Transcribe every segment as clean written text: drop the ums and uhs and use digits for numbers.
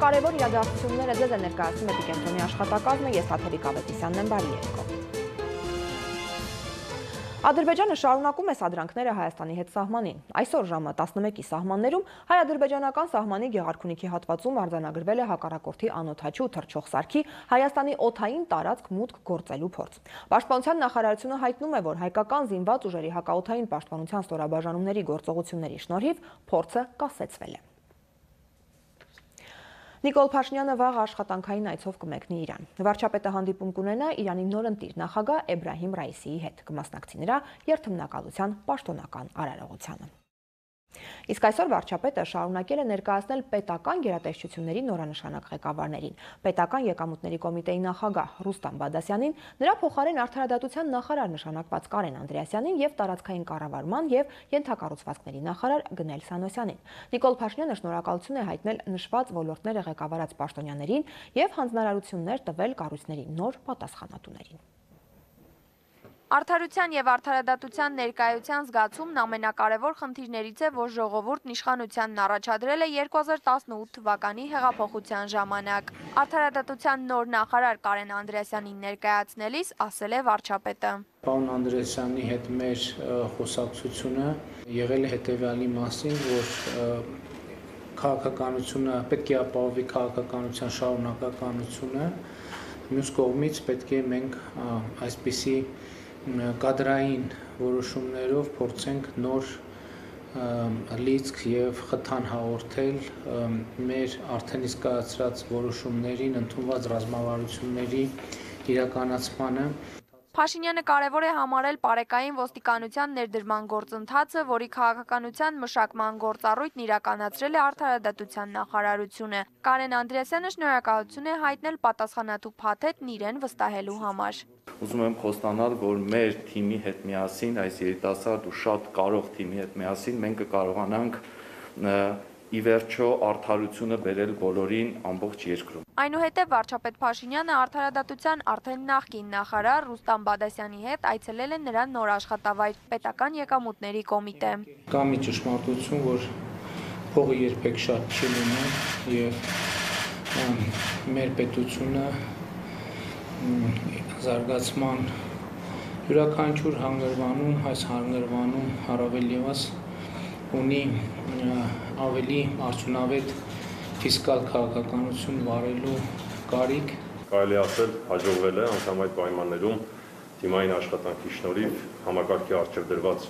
Ամենակարևոր իրադարձությունները ձեզ է ներկայացնում Էպիկենտրոնի աշխատակազմը, ես Թաթևիկ Ավետիսյանն եմ, բարի երեկո։ Ադրբեջանը շարունակում է սադրանքները Հայաստանի հետ սահմանին։ Այսօր ժամը 11-ի սահմաններում հայ-ադրբեջանական սահմանի Գեղարքունիքի հատվածում արձանագրվել է հակառակորդի անօդաչու թռչող սարքի Հայաստանի օդային տարածք մուտք գործելու փորձ։ Պաշտպանության նախարարությունը հայտնում է, որ հայկական զինված ուժերի հակաօդային պաշտպանության ստորաբաժանումների գործողությունների շնորհիվ փորձը կասեցվել է։ Նիկոլ Փաշինյանը վաղ աշխատանքային այցով կմեկնի Իրան։ Վարչապետը հանդիպում կունենա Իրանի նորընտիր նախագահ Էբրահիմ Ռայիսիի հետ, կմասնակցի նրա երթմնակալության պաշտոնական արարողությանը։ Իսկ այսօր վարչապետը շարունակել է ներկայացնել պետական գերատեսչությունների նորանշանակ ղեկավարներին, պետական եկամուտների կոմիտեի նախագահ Ռուստամ Բադասյանին, նրա փոխարեն արդարադատության նախարար նշանակված Կարեն Անդրեասյանին եւ տարածքային կառավարման եւ ենթակառուցվածքների նախարար Գնել Սանոսյանին։ Նիկոլ Փաշինյանը շնորհակալություն է հայտնել նշված ոլորտները ղեկավարած պաշտոնյաներին եւ հանձնարարություններ տվել կառույցների նոր պատասխանատուներին։ Արդարության եւ արդարադատության ներկայության զգացումն ամենակարևոր խնդիրներից է, որ ժողովուրդն իշխանությանն առաջադրել է 2018 թվականի հեղափոխության ժամանակ։ Արդարադատության նոր նախարար Կարեն Անդրեասյանին ներկայացնելիս ասել է վարչապետը. Պարոն Անդրեասյանի հետ մեր խոսակցությունը եղել է հետեւյալի մասին, որ քաղաքականությունը պետք է ապահովի քաղաքականության շարունակականությունը, մյուս կողմից պետք է մենք այսպիսի կադրային որոշումներով փորձենք նոր լիցք եւ խթան հաղորդել մեր արդեն իսկ կայացրած որոշումներին, ընդունված ռազմավարությունների իրականացմանը։ Փաշինյանը կարևոր է համարել պարեկային ոստիկանության ներդրման գործընթացը, որի քաղաքականության մշակման գործառույթն իրականացրել է արդարադատության նախարարությունը։ Կարեն Անդրեասյանը շնորհակալություն է հայտնել պատասխանատու փաթեթն իրեն վստահելու համար։ Ուզում եմ խոստանալ, որ մեր թիմի հետ միասին, այս երիտասարդ ու շատ կարող թիմի հետ միասին մենք կկարողանանք ի վերջո արդարությունը բերել բոլորին ամբողջ երկրում։ Այնուհետև վարչապետ Փաշինյանը արդարադատության արդեն նախկին նախարար Ռուստամ Բադասյանի հետ այցելել է նրա նոր աշխատավայր պետական եկամուտների կոմիտե։ Կա մի ճշմարտություն, որ փողը երբեք շատ չի լինում եւ մեր պետությունը զարգացման յուրաքանչյուր հանգրվանում, այս հանգրվանում առավել եւս ունի ավելի արդյունավետ ֆիսկալ քաղաքականություն վարելու կարիք։ Կարելի ասել հաջողվել է անգամ այդ պայմաններում թիմային աշխատանքի շնորհիվ համակարգի առջև դրված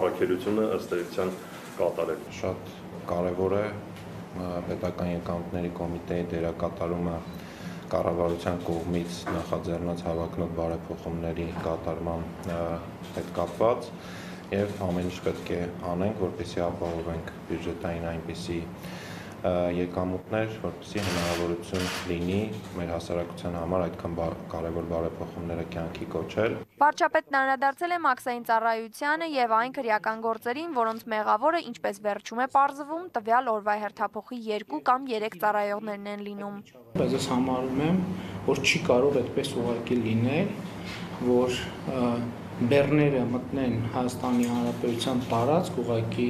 առաքելությունը ըստ էության կատարել։ Շատ կարևոր է պետական եկամուտների կոմիտեի դերակատարումը կառավարության կողմից նախաձեռնած հավակնոտ բարեփոխումների կատարման հետ կապված եւ ամեն ինչ պետք է անենք, որպեսզի ապահովենք բյուջետային այնպիսի եկամուտներ, որպեսզի հնարավորություն լինի մեր հասարակության համար այդքան կարևոր բարեփոխումները կյանքի կոչել։ Վարչապետն անդրադարձել է մաքսային ծառայությանը եւ այն քրեական գործերին, որոնց մեղավորը, ինչպես վերջում է պարզվում, տվյալ օրվա հերթափոխի 2 կամ 3 ծառայողներն են լինում։ Բայց ես համարում եմ, որ չի կարող այդպես ուղղակի լինել, որ բեռները մտնեն Հայաստանի Հանրապետության տարածք ուղղակի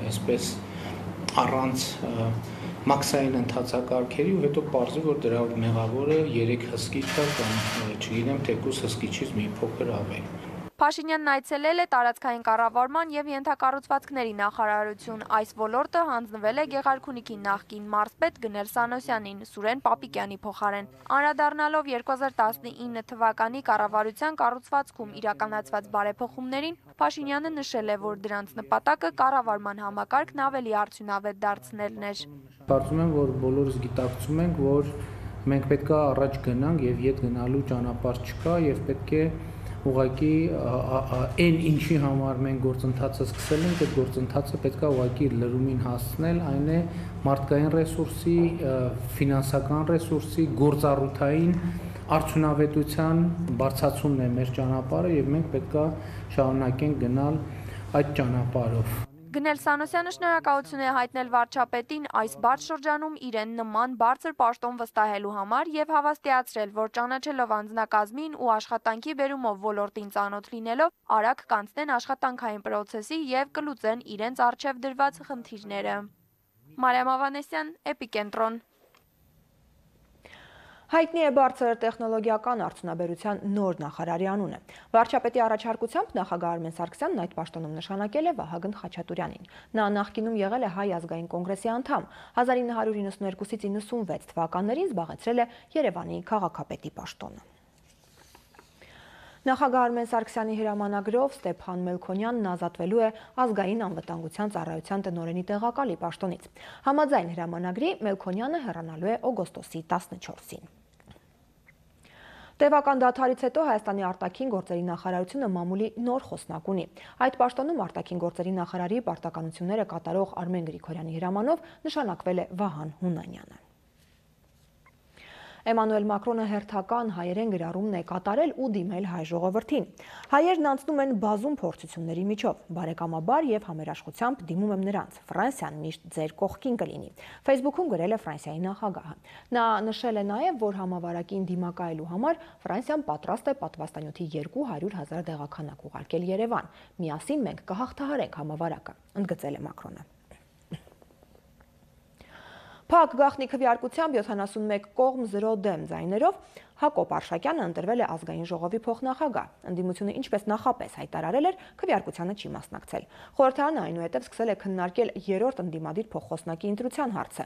այսպես առանց մաքսային ընթացակարգերի ու հետո պարզվի, որ դրա մեղավորը 3 հսկիչ է կամ չգիտեմ, թեկուզ հսկիչից մի փոքր ավել։ Փաշինյանն այցելել է տարածքային կառավարման եւ ենթակառուցվածքների նախարարություն։ Այս ոլորտը հանձնվել է Գեղարքունիքի նախկին մարզպետ Գնել Սանոսյանին, Սուրեն Պապիկյանի փոխարեն։ Անդրադառնալով 2019 թվականի կառավարության կառուցվածքում իրականացված բարեփոխումներին, Փաշինյանը նշել է, որ դրանց նպատակը կառավարման համակարգն ավելի արդյունավետ դարձնելն էր։ Կարծում եմ, որ բոլորս գիտակցում ենք, որ մենք պետք է առաջ գնանք եւ ետ գնալու ճանապարհ չկա եւ պետք է ուղղակի այն ինչի համար մենք գործընթացը սկսել ենք, այդ գործընթացը պետք է ուղղակի լրումին հասցնել, այն է մարդկային ռեսուրսի, ֆինանսական ռեսուրսի, գործառութային արդյունավետության բարձրացումն է մեր ճանապարհը եւ մենք պետք է շարունակենք գնալ այդ ճանապարհով։ Գնել Սանոսյանը շնորհակալություն է հայտնել վարչապետին այս բարդ շրջանում իրեն նման բարձր պաշտոն վստահելու համար եւ հավաստիացրել, որ ճանաչելով անձնակազմին ու աշխատանքի բերումով ոլորտին ծանոթ լինելով, արագ կանցնեն աշխատանքային պրոցեսի եւ կլուծեն իրենց առջև դրված խնդիրները։ Մարիամ Ավանեսյան, Էպիկենտրոն։ Հայտնի է բարձր տեխնոլոգիական արդյունաբերության նոր նախարարի անունը։ Վարչապետի առաջարկությամբ նախագահ Արմեն Սարգսյանն այդ պաշտոնում նշանակել է Վահագն Խաչատուրյանին։ Նա նախկինում եղել է Հայ ազգային կոնգրեսի անդամ, 1992-ից 96 թվականներին զբաղեցրել է Երևանի քաղաքապետի պաշտոնը։ Նախագահ Արմեն Սարգսյանի հրամանագրով Ստեփան Մելքոնյանն ազատվելու է ազգային անվտանգության ծառայության տնօրենի տեղակալի պաշտոնից։ Համաձայն հրամանագրի Մելքոնյանը հեռանալու է օգոստոսի 14-ին։ Տևական դադարից հետո Հայաստանի արտաքին գործերի նախարարությունը մամուլի նոր խոսնակ ունի։ Այդ պաշտոնում արտաքին գործերի նախարարի պարտականությունները կատարող Արմեն Գրիգորյանի հրամանով նշանակվել է Վահան Հունանյանը։ Էմանուել Մակրոնը հերթական հայերեն գրառումն է կատարել ու դիմել հայ ժողովրդին։ Հայերն անցնում են բազում փորձությունների միջով, բարեկամաբար եւ համերաշխությամբ դիմում եմ նրանց։ Ֆրանսիան միշտ ձեր կողքին կլինի։ Facebook-ում գրել է Ֆրանսիայի նախագահը։ Նա նշել է նաեւ, որ համավարակին դիմակայելու համար Ֆրանսիան պատրաստ է պատվաստանյութի 200,000 դեղաքանակ ուղարկել Երևան։ Միասին մենք կհաղթահարենք համավարակը, ընդգծել է Մակրոնը։ Փակ գաղտնի քվեարկությամբ 71 կողմ 0 դեմ ձայներով Հակոբ Արշակյանը ընտրվել է ազգային ժողովի փոխնախագահ։ Ընդդիմությունը ինչպես նախապես հայտարարել էր, քվեարկությանը չի մասնակցել։ Խորհրդարանը այնուհետև սկսել է քննարկել երրորդ ընդդիմադիր փոխխոսնակի ընտրության հարցը։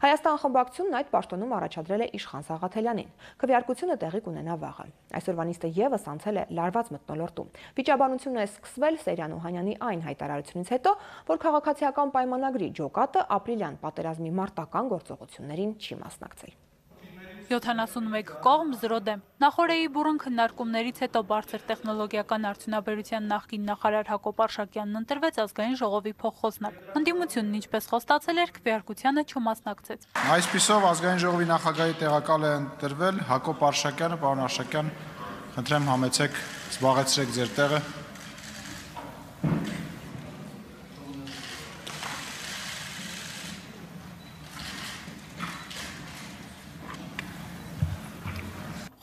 Հայաստան խմբակցությունն այդ պաշտոնում առաջադրել է Իշխան Սաղաթելյանին։ Քվեարկությունը տեղի կունենա վաղը։ Այսօրվա նիստը եւս անցել է լարված մթնոլորտում։ Վիճաբանությունը է սկսվել Սերյան Օհանյանի այն հայտարարությունից հետո, որ քաղաքացիական պայմանագրի ջոկատը ապրիլյան պատերազմի մարտական գործողություններին չի մասնակցել։ 71 կողմ 0 դեմ։ Նախորդեի բուրըն քննարկումներից հետո բարձր տեխնոլոգիական արդյունաբերության նախկին նախարար Հակոբ Արշակյանն ընտրվեց ազգային ժողովի փոխխոսնակ։ Ընդդիմությունն ինչպես խոստացել էր, քվեարկությանը չմասնակցեց։ Այսպիսով ազգային ժողովի նախագահի տեղակալ է ընտրվել Հակոբ Արշակյանը, պարոն Արշակյան, խնդրեմ համեցեք, զբաղեցրեք ձեր տեղը։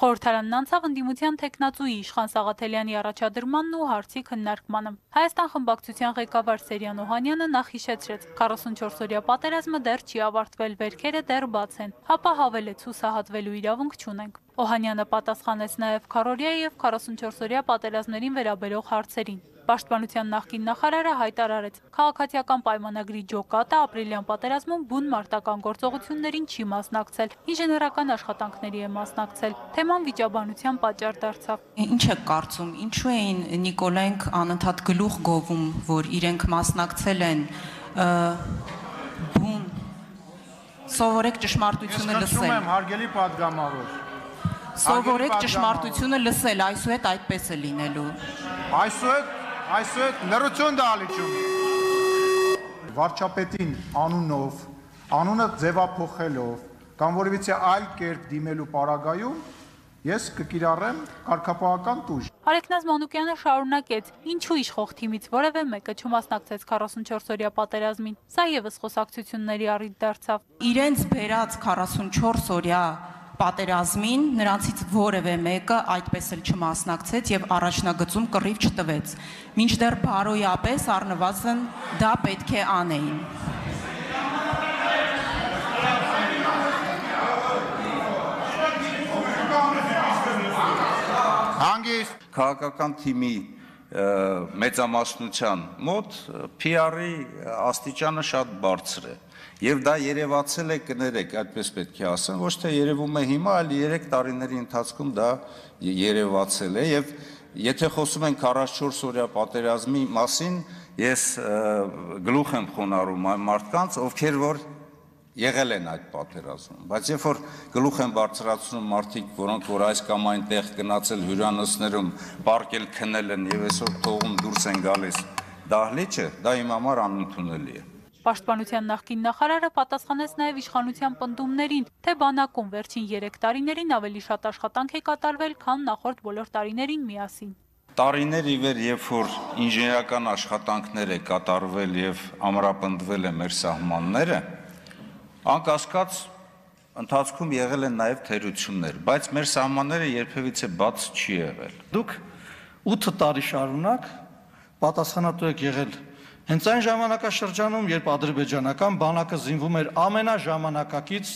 Խորհրդարանն անցավ ընդդիմության թեկնածուի Իշխան Սաղաթելյանի առաջադրմանն ու հարցի քննարկմանը։ Հայաստան խմբակցության ղեկավար Սերյան Օհանյանը նախ հիշեցրեց, 44-օրյա պատերազմը դեռ չի ավարտվել, վերքերը դեռ բաց են, հապա հավելեց հուսահատվելու իրավունք չունենք։ Օհանյանը պատասխանեց նաև քառօրյա եւ 44-օրյա պատերազմներին վերաբերող հարցերին։ Պաշտպանության նախկին նախարարը հայտարարեց, քաղաքացիական պայմանագրի ջոկատը ապրիլյան պատերազմում բուն մարտական գործողություններին չի մասնակցել, ինժեներական աշխատանքների է մասնակցել։ Թեման վիճաբանության պատճառ դարձավ։ Ինչ է կարծում, ինչու էին Նիկոլայենք անընդհատ գլուխ գովում, որ իրենք մասնակցել են բուն։ Սովորեք ճշմարտությունը լսել։ Ես խնդրում եմ, հարգելի падգամավոր։ Սովորեք ճշմարտությունը լսել, այսուհետ այդպես է լինելու։ Այսուհետ լրություն դալիճում։ Վարչապետին անունով, անունը ձևափոխելով կամ որևիցե այլ կերպ դիմելու պարագայում ես կկիրառեմ կարգապահական տուժ։ Արեգնազ Մանուկյանը շարունակեց, ինչու իշխող թիմից որևէ մեկը չմասնակցեց 44-օրյա պատերազմին։ Սա եւս խոսակցությունների առիթ դարձավ։ Իրենց բերած 44-օրյա պատերազմին նրանցից որևէ մեկը այդպես էլ չմասնակցեց եւ առաջնագծում կռիվ չտվեց։ Մինչդեռ բարոյապես առնվազն դա պետք է անեին։ Հանգիստ քաղաքական թիմի մեծամասնության մոտ PR-ի աստիճանը շատ բարձր է։ Եվ դա երևացել է, կներեք, այդպես պետք է ասեմ, ոչ թե երևում է հիմա, այլ 3 տարիների ընթացքում դա երևացել է եւ եթե խոսում ենք 44-օրյա պատերազմի մասին, ես գլուխ եմ խոնարհում այն մարդկանց, ովքեր որ եղել են այդ պատերազմում, բայց երբ որ գլուխ են բարձրացնում մարդիկ, որոնք որ այս կամ այնտեղ գնացել հյուրանոցներում, պարկել քնել են եւ այսօր թողում դուրս են գալիս դահլիճը, դա իմ համար անընդունելի է։ Պաշտպանության նախկին նախարարը պատասխանեց նաև իշխանության պնդումներին, թե բանակում վերջին 3 տարիներին ավելի շատ աշխատանք է կատարվել, քան նախորդ բոլոր տարիներին միասին։ Տարիներ ի վեր, երբ որ ինժեներական աշխատանքներ է կատարվել եւ ամրապնդվել է մեր սահմանները, անկասկած ընթացքում եղել են նաև թերություններ, բայց մեր սահմանները երբևիցե բաց չի եղել։ Դուք 8 տարի շարունակ պատասխանատու եք եղել հենց այն ժամանակաշրջանում, երբ ադրբեջանական բանակը զինվում էր ամենաժամանակակից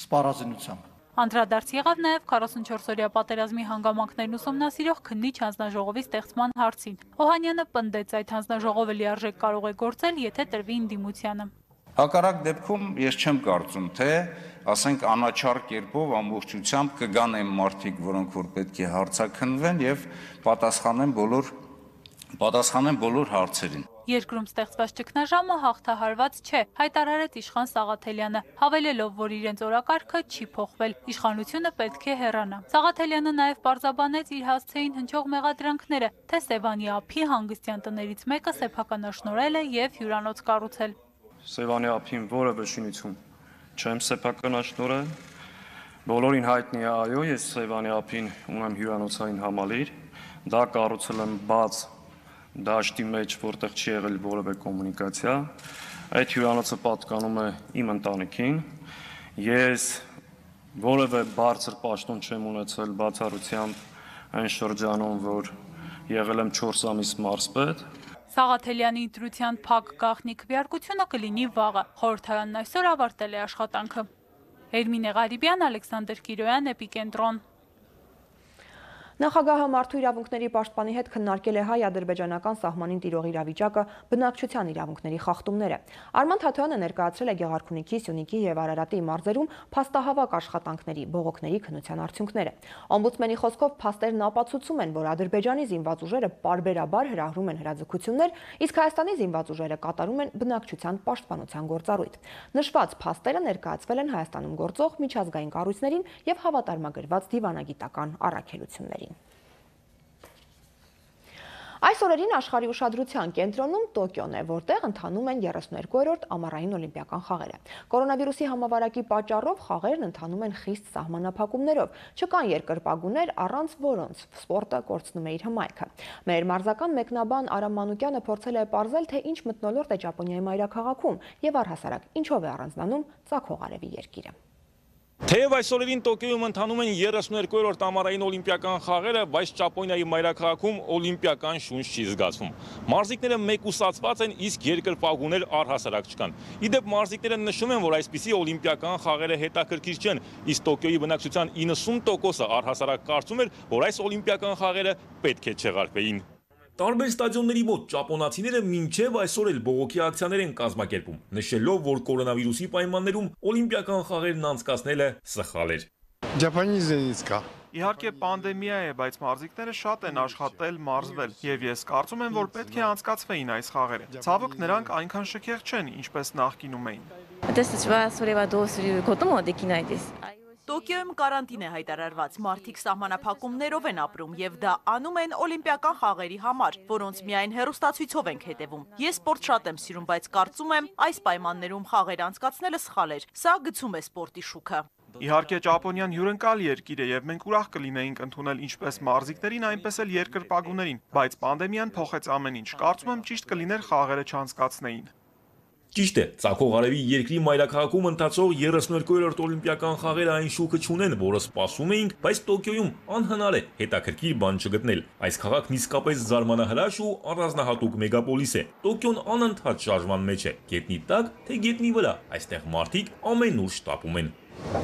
սպառազինությամբ։ Անդրադարձ եղավ նաև 44-օրյա պատերազմի հանգամանքներն ուսումնասիրող քննիչ հանձնաժողովի ստեղծման հարցին։ Օհանյանը պնդեց, այդ հանձնաժողովը լիարժեք կարող է գործել, եթե տրվի ինդիմությանը։ Հակառակ դեպքում ես չեմ կարծում, թե ասենք անաչառ կերպով ամբողջությամբ կգան այն մարդիկ, որոնք որ պետք է հարցաքննվեն եւ պատասխանեն բոլոր հարցերին։ Երկրում ստեղծված ճգնաժամը հաղթահարված չէ, հայտարարեց իշխան Սաղաթելյանը, հավելելով, որ իրենց օրակարգը չի փոխվել, իշխանությունը պետք է հեռանա։ Սաղաթելյանը նաև պարզաբանեց իր հասցեին հնչող մեղադրանքները, թե Սևանի ափի հանգստյան տներից մեկը սեփականաշնորհել է եւ հյուրանոց կառուցել։ Սևանի ափին որևէ շինություն չեմ սեփականաշնորհել, բոլորին հայտնի է, այո, ես Սևանի ափին ունեմ հյուրանոցային համալիր, դա կառուցել եմ բաց դաշտի մեջ, որտեղ չի եղել որևէ կոմունիկացիա, այդ հյուրանոցը պատկանում է իմ ընտանիքին, ես որևէ բարձր պաշտոն չեմ ունեցել բացառությամբ այն շրջանում, որ եղել եմ 4 ամիս մարզպետ։ Սաղաթելյանի ընտրության փակ գաղտնի քվեարկությունը կլինի վաղը, խորհրդարանն այսօր ավարտել է աշխատանքը։ Էրմինե Ղարիբյան, Ալեքսանդր Կիրոյան, Էպիկենտրոն։ Նախագահը մարդու իրավունքների պաշտպանի հետ քննարկել է հայ-ադրբեջանական սահմանին տիրող իրավիճակը, բնակչության իրավունքների խախտումները։ Արման Թաթոյանը ներկայացրել է Գեղարքունիքի, Սյունիքի եւ Արարատի մարզերում փաստահավաք աշխատանքների, բողոքների քննության արդյունքները։ Օմբուդսմենի խոսքով փաստերն ապացուցում են, որ Ադրբեջանի զինված ուժերը պարբերաբար հրահրում են հրաձգություններ, իսկ Հայաստանի զինված ուժերը կատարում են բնակչության պաշտպանության գործառույթ։ Նշված փաստերը ներկայացվել են Հայաստանում գործող միջազգային կառույցներին եւ հավատարմագրված դիվանագիտական առաքելություններին։ Այս օրերին աշխարհի ուշադրության կենտրոնում Տոկիոն է, որտեղ ընթանում են 32-րդ ամառային օլիմպիական խաղերը։ Կորոնավիրուսի համավարակի պատճառով խաղերն ընթանում են խիստ սահմանափակումներով, չկան երկրպագուներ, առանց որոնց սպորտը կորցնում է իր հմայքը։ Մեր մարզական մեկնաբան Արամ Մանուկյանը փորձել է պարզել, թե ինչ մթնոլորտ է Ճապոնիայի մայրաքաղաքում եւ առհասարակ ինչով է առանձնանում ծագող արևի երկիրը։ Թեև այս օրերին Տոկիոյում ընթանում են 32-րդ ամառային օլիմպիական խաղերը, բայց Ճապոնիայի մայրաքաղաքում օլիմպիական շունչ չի զգացվում։ Մարզիկները մեկուսացված են, իսկ երկրպագուներ առհասարակ չկան։ Իդեպ մարզիկները նշում են, որ այսպիսի օլիմպիական խաղերը հետաքրքիր չեն, իսկ Տոկիոյի բնակչության 90%-ը առհասարակ կարծում էր, որ այս օլիմպիական խաղերը պետք է չեղարկվեին։ Տարբեր ստադիոնների մոտ ճապոնացիները մինչև այսօր էլ բողոքի ակցիաներ են կազմակերպում, նշելով, որ կորոնավիրուսի պայմաններում օլիմպիական խաղերն անցկացնելը սխալ էր։ Իհարկե պանդեմիա է, բայց մարզիկները շատ են աշխատել, մարզվել, եւ ես կարծում եմ, որ պետք է անցկացվեին այս խաղերը։ Ցավոք նրանք այնքան շքեղ չեն, ինչպես նախկինում էին։ Տոկիոյում կարանտին է հայտարարված, մարդիկ սահմանափակումներով են ապրում եւ դա անում են օլիմպիական խաղերի համար, որոնց միայն հեռուստացույցով ենք հետևում։ Ես սպորտ շատ եմ սիրում, բայց կարծում եմ, այս պայմաններում խաղեր անցկացնելը սխալ էր։ Սա գցում է սպորտի շուքը։ Իհարկե Ճապոնիան հյուրընկալ երկիր է եւ մենք ուրախ կլինեինք ընդունել ինչպես մարզիկներին, այնպես էլ երկրպագուներին, բայց պանդեմիան փոխեց ամեն ինչ։ Կարծում եմ ճիշտ կլիներ խաղերը չանցկացնեին։ Ճիշտ է, ծագող արևի երկրի մայրաքաղաքում ընթացող 32-րդ օլիմպիական խաղերը այն շուկը չունեն, որը սպասում էինք, բայց Տոկիոյում անհնար է հետաքրքիր բան չգտնել։ Այս քաղաքն իսկապես զարմանահրաշ ու առանձնահատուկ մեգապոլիս է։ Տոկիոն անընդհատ շարժման մեջ է, գետնի տակ, թե գետնի վրա, այստեղ մարդիկ ամենուր շտապում են։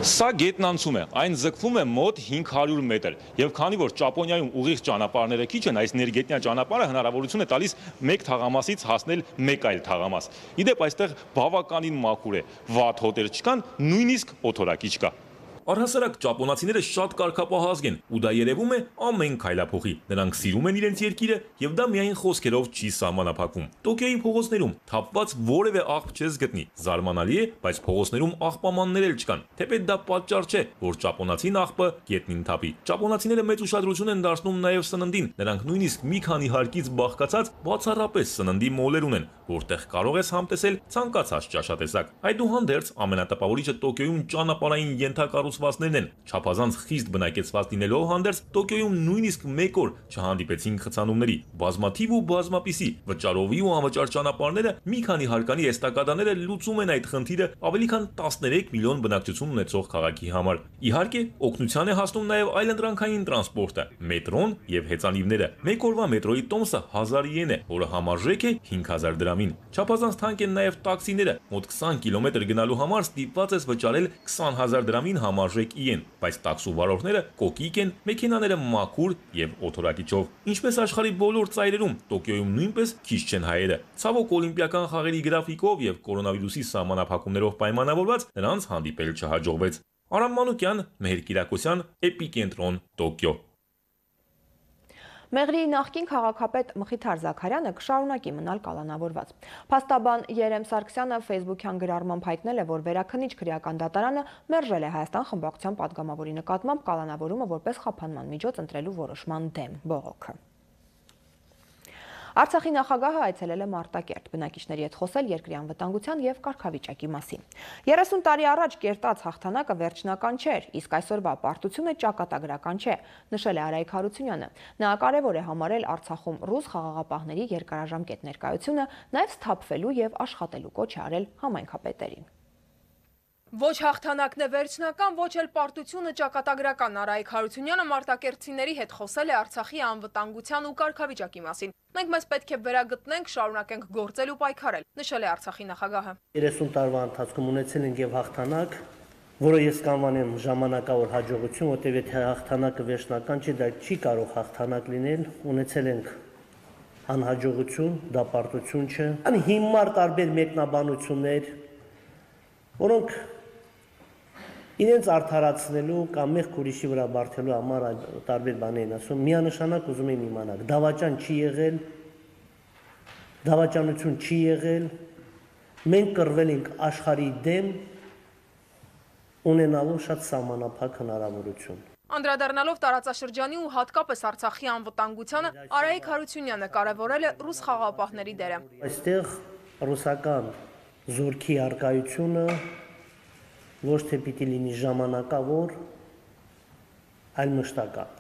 Սա գետն անցում է, այն ձգվում է մոտ 500 մետր, եւ քանի որ Ճապոնիայում ուղիղ ճանապարհները քիչ են, այս ներգետնյա ճանապարհը հնարավորություն է տալիս մեկ թաղամասից հասնել մեկ այլ թաղամաս։ Իդեպ այստեղ բավականին մաքուր է, վատ հոտեր չկան, նույնիսկ օթորակի չկա։ Առհասարակ ճապոնացիները շատ կարգապահազգ են, ու դա երևում է ամեն քայլափոխի։ Նրանք սիրում են իրենց երկիրը, եւ դա միայն խոսքերով չի սահմանափակվում։ Տոկիոյի փողոցներում թափված որևէ աղբ չես գտնի։ Զարմանալի է, բայց փողոցներում աղբամաններ էլ չկան։ Թեպետ դա պատճառ չէ, որ ճապոնացին աղբը գետնին թափի։ Ճապոնացիները մեծ ուշադրություն են դարձնում նաեւ սննդին։ Նրանք նույնիսկ մի քանի հարկից բաղկացած բացառապես սննդի մոլեր ունեն, որտեղ կարող ես համտեսել ցանկացած ճաշատեսակ։ Այդուհանդերձ ամենատպավորիչը Տոկիոյում ճանապարհային ենթակառուցվածքներն են։ Չափազանց խիստ բնակեցված լինելով հանդերձ Տոկիոյում նույնիսկ մեկ օր չհանդիպեցին խցանումների։ Բազմաթիվ ու բազմապիսի վճարովի ու անվճար ճանապարհները մի քանի հարկանի էստակադաները լուծում են այդ խնդիրը ավելի քան 13 միլիոն բնակչություն ունեցող քաղաքի համար։ Իհարկե, օգնության է հասնում նաև այլընտրանքային տրանսպորտը, մետրոն եւ հեծանիվները։ Մեկ օրվա մետրոյի տոմսը 1000 իեն է, որը համարժեք է 5000 դրամին։ Չափազանց թանկ են նաև տաքսիները։ Մոտ 20 կիլոմետր գնալու համար ստիպված ես վճարել 20000 դրամին համար համարժեքի են, բայց տաքսու վարորդները կոկիկ են, մեքենաները մաքուր եւ օթորակիչով։ Ինչպես աշխարհի բոլոր ծայրերում, Տոկիոյում նույնպես քիչ չեն հայերը։ Ցավոք օլիմպիական խաղերի գրաֆիկով եւ կորոնավիրուսի սահմանափակումներով պայմանավորված նրանց հանդիպել չհաջողվեց։ Արամ Մանուկյան, Մեհեր Կիրակոսյան, Էպիկենտրոն, Տոկիո։ Մեղրի նախկին քաղաքապետ Մխիթար Զաքարյանը կշարունակի մնալ կալանավորված։ Փաստաբան Երեմ Սարգսյանը Facebook-յան գրառմամբ հայտնել է, որ Վերաքնիչ քրեական դատարանը մերժել է Հայաստան խմբակցության падգամավորի նկատմամբ կալանավորումը որպես խափանման միջոց ընտրելու որոշման դեմ բողոքը։ Արցախի նախագահը այցելել է Մարտակերտ, բնակիչների հետ խոսել երկրի անվտանգության եւ կարգավիճակի մասին։ 30 տարի առաջ կերտած հաղթանակը վերջնական չէր, իսկ այսօրվա պարտությունը ճակատագրական չէ, նշել է Արայիկ Հարությունյանը։ Նա կարևոր է համարել Արցախում ռուս խաղաղապահների երկարաժամկետ ներկայությունը, նաեւ սթափվելու եւ աշխատելու կոչ է արել համայնքապետերին։ Ոչ հաղթանակն է վերջնական, ոչ էլ պարտությունը ճակատագրական։ Արայիկ Հարությունյանը մարտակերտցիների հետ խոսել է Արցախի անվտանգության ու կարգավիճակի մասին։ Մենք մեզ պետք է վերագտնենք, շարունակենք գործել ու պայքարել, նշել է Արցախի նախագահը։ 30 տարվա ընթացքում ունեցել ենք եւ հաղթանակ, որը ես կանվանեմ ժամանակավոր հաջողություն, որտեղ եթե հաղթանակը վերջնական չի, դա չի կարող հաղթանակ լինել, ունեցել ենք անհաջողություն, դա պարտություն չէ։ Անհիմար տարբեր մեկնաբանություններ, որոնք իրենց արդարացնելու կամ մեղք ուրիշի վրա բարթելու համար տարբեր բաներ են ասում, միանշանակ ուզում եմ իմանալ, դավաճան չի եղել, դավաճանություն չի եղել, մենք կռվել ենք աշխարհի դեմ, ունենալու շատ սահմանափակ հնարավորություն։ Անդրադառնալով տարածաշրջանի ու հատկապես Արցախի անվտանգությանը, Արայիկ Հարությունյանը կարևորել է ռուս խաղաղապահների դերը։ Այստեղ ռուսական զորքի առկայությունը ոչ թե պիտի լինի ժամանակավոր, այլ մշտական։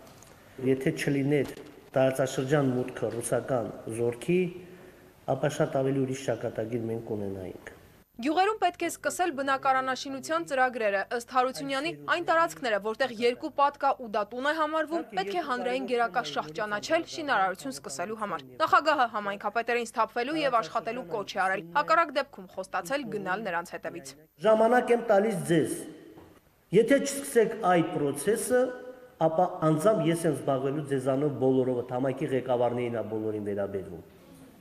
Եթե չլիներ տարածաշրջան մուտքը ռուսական զորքի, ապա շատ ավելի ուրիշ ճակատագիր մենք կունենայինք։ Գյուղերում պետք է սկսել բնակարանաշինության ծրագրերը, ըստ Հարությունյանի, այն տարածքները, որտեղ երկու պատ կա ու դա տուն է համարվում, պետք է հանրային գերակաշահ ճանաչել շինարարություն սկսելու համար։ Նախագահը համայնքապետերին սթափվելու եւ աշխատելու կոչ է արել, հակառակ դեպքում խոստացել գնալ նրանց հետևից։ Ժամանակ եմ տալիս ձեզ։ Եթե չսկսեք այդ process-ը, ապա անձամբ ես եմ զբաղվելու ձեզանով բոլորովը, համայնքի ղեկավարներին է բոլորին վերաբերվում։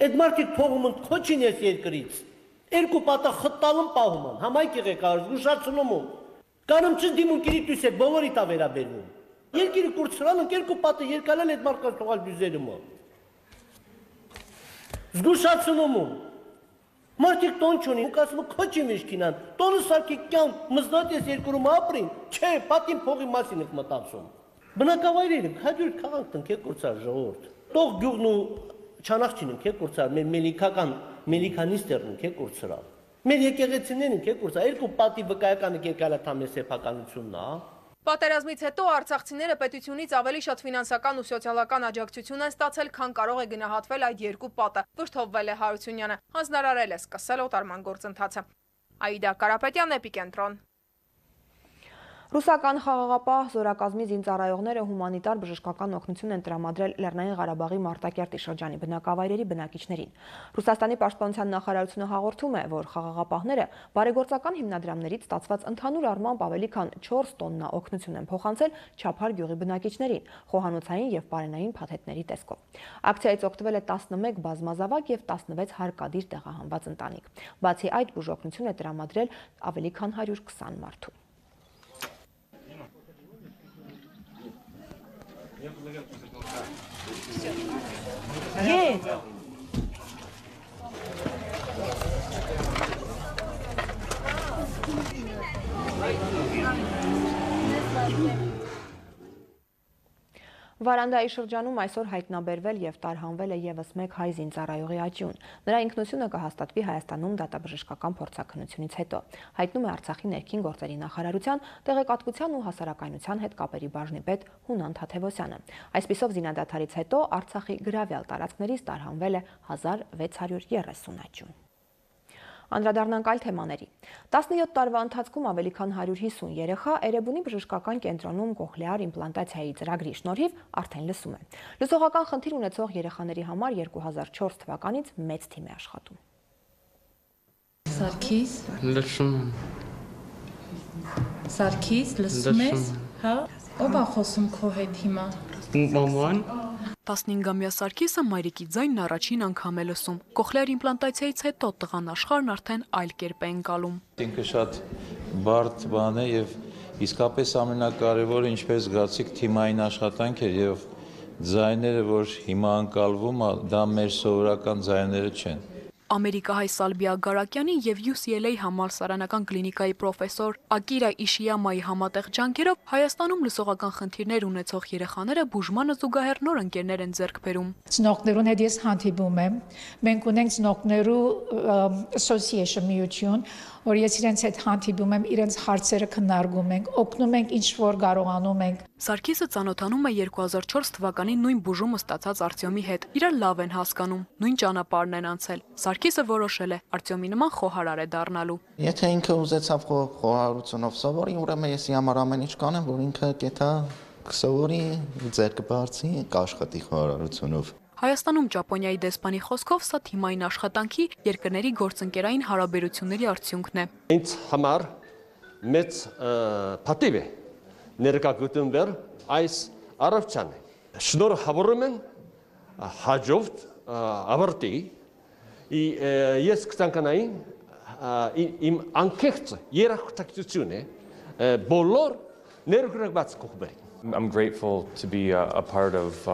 Այդ մարդիկ փողում են քոչին ես երկրից։ Երկու պատը խտալում պահում են, համայնքի ղեկավար զգուշացնում են։ Կանեմ չդիմում կիրիտույս է բոլորի տա վերաբերվում։ Երկիրը կուրցրալ են, երկու պատը երկալել այդ մարդկանց թողալ բյուզերում են։ Զգուշացնում են։ Մարդիկ տոն չունին, ու ասում են քոչի մեջքինան, տոնը սարքի կյան մզնատես երկրում ապրին, չէ, պատին փողի մասին եք մտածում։ Բնակավայրերը 100 քաղաք տնկեք կուրցար ժողովուրդ։ Տող գյուղն ու չանախչին եք կուրցար, մեր մելիքական մելիքանիստերն եք կուրցրալ։ Մեր եկեղեցիներն եք կուրցար, երկու պատի վկայականը եկալա թամե սեփականությունն է։ Պատերազմից հետո արցախցիները պետությունից ավելի շատ ֆինանսական ու սոցիալական աջակցություն են ստացել, քան կարող է գնահատվել այդ երկու պատը, վշտովվել է Հարությունյանը, հանձնարարել է սկսել օտարման գործընթացը։ Աիդա Կարապետյան, Էպիկենտրոն։ Ռուսական խաղաղապահ զորակազմի զինծառայողները հումանիտար բժշկական օգնություն են տրամադրել Լեռնային Ղարաբաղի Մարտակերտի շրջանի բնակավայրերի բնակիչներին։ Ռուսաստանի պաշտպանության նախարարությունը հաղորդում է, որ խաղաղապահները բարեգործական հիմնադրամներից ստացված ընդհանուր առմամբ ավելի քան 4 տոննա օգնություն են փոխանցել Չափար գյուղի բնակիչներին, խոհանոցային եւ պարենային փաթեթների տեսքով։ Ակցիայից օգտվել է 11 բազմազավակ եւ 16 հարկադիր տեղահանված ընտանիք։ Բացի այդ, բուժօգնություն է տրամադրել ավելի քան 120 մարդու։ Վարանդայի շրջանում այսօր հայտնաբերվել եւ տարհանվել է եւս մեկ հայ զինծառայողի աճյուն։ Նրա ինքնությունը կհաստատվի Հայաստանում դատաբժշկական փորձաքննությունից հետո, հայտնում է Արցախի ներքին գործերի նախարարության տեղեկատվության ու հասարակայնության հետ կապերի բաժնի պետ Հունան Թաթևոսյանը։ Այսպիսով զինադադարից հետո Արցախի գրավյալ տարածքներից տարհանվել է 1630 աճյուն։ Անդրադառնանք այլ թեմաների։ 17 տարվա ընթացքում ավելի քան 150 երեխա Էրեբունի բժշկական կենտրոնում կոխլեար իմպլանտացիայի ծրագրի շնորհիվ արդեն լսում են։ Լսողական խնդիր ունեցող երեխաների համար 2004 թվականից մեծ թիմ է աշխատում։ Սարգիս լսում եմ։ Սարգիս, լսում ես, հա? Ով է խոսում քո հետ հիմա։ Մաման։ 15-ամյա Սարգիսը մայրիկի ձայնն առաջին անգամ է լսում։ Կոխլեար իմպլանտացիայից հետո տղան աշխարհն արդեն այլ կերպ է ընկալում։ Ինքը շատ բարդ բան է եւ իսկապես ամենակարևորը ինչպես զգացիք թիմային աշխատանք էր եւ ձայները, որ հիմա ընկալվում, դա մեր սովորական ձայները չեն։ Ամերիկահայ Սալբիա Գարակյանի եւ UCLA համալսարանական կլինիկայի պրոֆեսոր Ակիրա Իշիյամայի համատեղ ջանքերով Հայաստանում լսողական խնդիրներ ունեցող երեխաները բուժմանը զուգահեռ նոր ընկերներ են ձեռք բերում։ Ծնողներուն հետ ես հանդիպում եմ։ Մենք ունենք ծնողներու association միություն, որ ես իրենց հետ հանդիպում եմ, իրենց հարցերը քննարկում ենք, օգնում ենք ինչ որ կարողանում ենք։ Սարգիսը ծանոթանում է 2004 թվականին նույն բուժումը ստացած Արտյոմի հետ։ Իրար լավ են հասկանում, նույն ճանապարհն են անցել։ Սարգիսը որոշել է Արտյոմի նման խոհարար է դառնալու։ Եթե ինքը ուզեցավ խոհարարությունով սովորի, ուրեմն ես համար ամեն ինչ կանեմ, որ ինքը կետա կսովորի, ձեռք բարձի, կաշխատի խոհարարությունով։ Հայաստանում Ճապոնիայի դեսպանի խոսքով սա թիմային աշխատանքի երկրների գործընկերային հարաբերությունների արդյունքն է։ Ինձ համար մեծ պատիվ է ներկայացնել այս առողջանը։ Շնորհավորում եմ հաջորդ ավարտի ես կցանկանայի իմ անկեղծ երախտագիտությունը բոլոր ներգրավված կողմերի։ I'm grateful to be a part of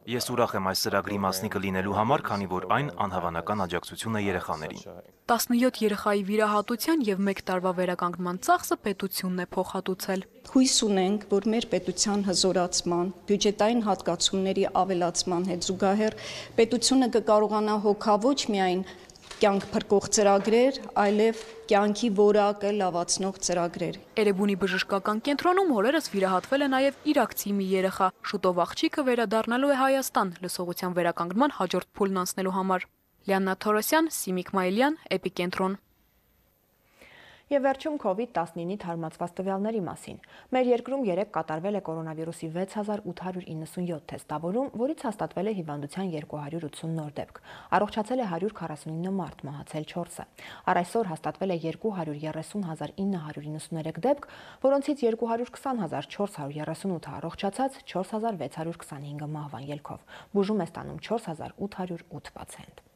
Ես ուրախ եմ այս ծրագրի մասնիկը լինելու համար, քանի որ այն անհավանական աջակցություն է երեխաներին։ 17 երեխայի վիրահատության եւ 1 տարվա վերականգնման ծախսը պետությունն է փոխհատուցել։ Հույս ունենք, որ մեր պետության հզորացման, բյուջետային հատկացումների ավելացման հետ զուգահեռ պետությունը կկարողանա հոգալ ոչ միայն կյանք փրկող ծրագրեր, այլև կյանքի որակը լավացնող ծրագրեր։ Էրեբունի բժշկական կենտրոնում օրերս վիրահատվել է նաև իրաքցի մի երեխա։ Շուտով աղջիկը վերադառնալու է Հայաստան լսողության վերականգնման հաջորդ փուլն անցնելու համար։ Լիաննա Թորոսյան, Սիմիկ Մայլյան, Էպիկենտրոն։ Եվ վերջում COVID-19-ի թարմացված տվյալների մասին։ Մեր երկրում 3 կատարվել է կորոնավիրուսի 6897 թեստավորում, որից հաստատվել է հիվանդության 280 նոր դեպք։ Առողջացել է 149 մարդ, մահացել 4-ը։ Առ այսօր հաստատվել է 230,993 դեպք, որոնցից 220,438-ը առողջացած, 4,625-ը մահվան ելքով։ Բուժում է ստանում 4,808 պացիենտ։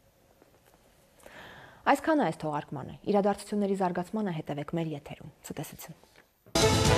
Այսքանը այս թողարկմանը։ Իրադարձությունների զարգացմանը հետևեք մեր եթերում։ Ցտեսություն։